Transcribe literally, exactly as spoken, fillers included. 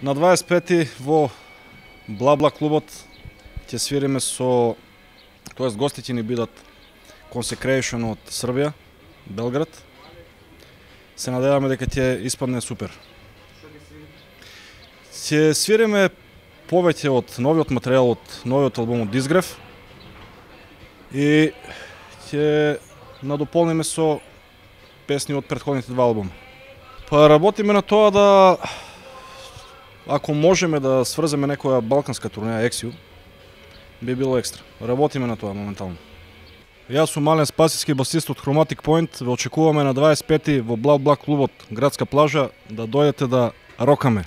На дваесет пети во Бла-Бла клубот ќе свириме со, тоест гости ќе ни бидат Consecration од Србија, Белград. Се надеваме дека ќе испадне супер. Ќе свириме повеќе од новиот материјал од новиот албум од Дизгрев и ќе надополниме со песни од претходните два албума. Па работиме на тоа да, ако можеме да сврземе некоја балканска турнеја Ексиу, би било екстра. Работиме на тоа моментално. Јас сум Мален Спасиски, басист од Chromatic Point. Ве очекуваме на дваесет пети во Бла-Бла клубот Градска плажа да дојдете да рокаме.